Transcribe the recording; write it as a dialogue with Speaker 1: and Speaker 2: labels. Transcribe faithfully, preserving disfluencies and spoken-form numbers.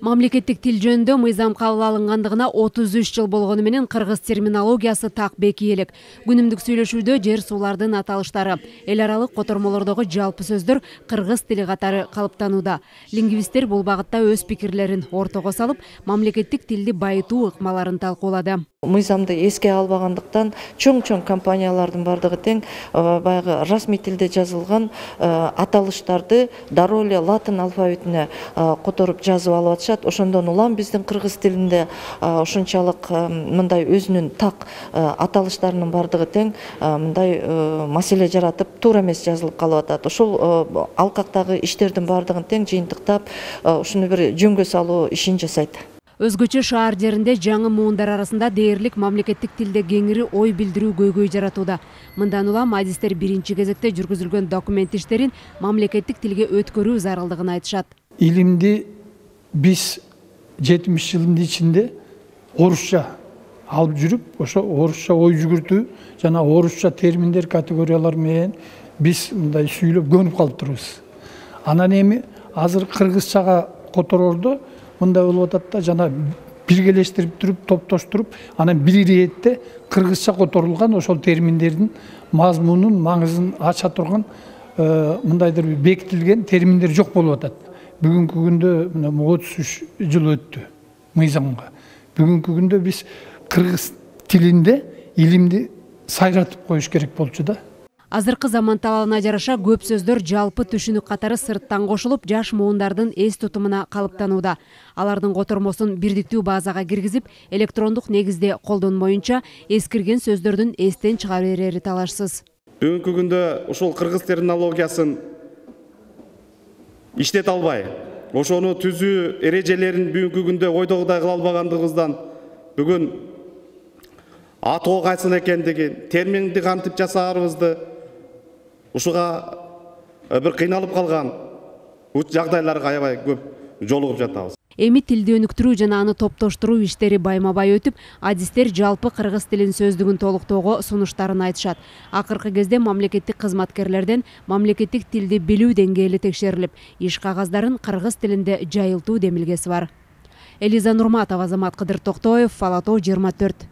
Speaker 1: Мамлекеттик тил жөнүндө мыйзам кабыл алынгандыгына отуз үч жыл болгону менен кыргыз терминологиясы так беки элек. Күнүмдүк сүйлөшүүдө жер суулардын аталыштары, эл аралык котормолордогу жалпы сөздөр кыргыз тили катары калыптанууда. Лингвисттер бул багытта өз пикирлерин ортого салып, мамлекеттик тилди байытуу ыкмаларын талкуулады.
Speaker 2: Мыйзамды эске албагандыктан чоң-чоң компаниялардын бардыгы тең баягы расмий тилде жазылган аталыштарды дароо эле латын алфавитине которуп жазып алып атышат. Ошондон улам биздин кыргыз тилинде ошончолук мындай өзүнүн так аталыштарынын бардыгы тең мындай маселе жаратып, туура эмес жазылып калып атат. Ошол алкактагы иштердин бардыгын тең жыйынтыктап, ушуну бир жөнгө салуу ишин жасайт.
Speaker 1: Өзгөчө шаар жеринде жаңы муундар арасында дээрлик мамлекеттик тилде кеңири ой билдирүү көйгөй жаратууда. Мындан улам адистер биринчи кезекте жүргүзүлгөн документ иштерин мамлекеттик тилге өткөрүү зарылдыгын айтышат.
Speaker 3: Илимди биз жетимиш жылдын ичинде орусча алып жүрүп, ошо орусча ой жүгүртүү жана орусча терминдер, категориялар менен биз мындай сүйлөп көнүп калыптырбыз. Анан эми азыр кыргызчага которордо мындай болуп атат да, жана биргелештирип туруп, топтоштуруп, анан бир иретте кыргызча которулган ошол терминдердин мазмунун, маңызын ача турган мындайдыр бекитилген терминдер жок болуп атат. Бүгүнкү күндө мына отуз үч жыл өттү мыйзамга. Бүгүнкү күндө биз кыргыз тилинде илимди сайратып коюш керек болчу да.
Speaker 1: Азыркы заман талабына жараша көп сөздөр жалпы түшүнүк катары сырттан кошулуп, жаш муундардын эс тутумуна калыптанууда. Алардын котормосун бирдиктүү базага киргизип, электрондук негизде колдонмоюнча эскирген сөздөрдүн эстен чыга берери талашсыз.
Speaker 4: Бүгүнкү күндө ушул кыргыз терминологиясын иштете албай, ошону түзүү эрежелерин бүгүнкү күндө ойдогудай кыла албагандыгыбыздан бүгүн атоо кайсыл экендигин, терминди кантип жасаарыбызды ушуга бир кыйналып калган жагдайларга аябай көп жолугуп жатабыз.
Speaker 1: Эми тилди өнүктүрүү жана аны топтоштуруу иштери байма-бай өтүп, адистер жалпы кыргыз тилин сөздүгүн толуктоого сунуштарын айтышат. Акыркы кезде мамлекеттик кызматкерлерден мамлекеттик тилди билүү деңгээли текшерилип, иш кагаздарын кыргыз тилинде жайылтуу демилгеси бар. Элиза Нурматова, Азамат Кыдыр Токтоев, Ала тоо жыйырма төрт.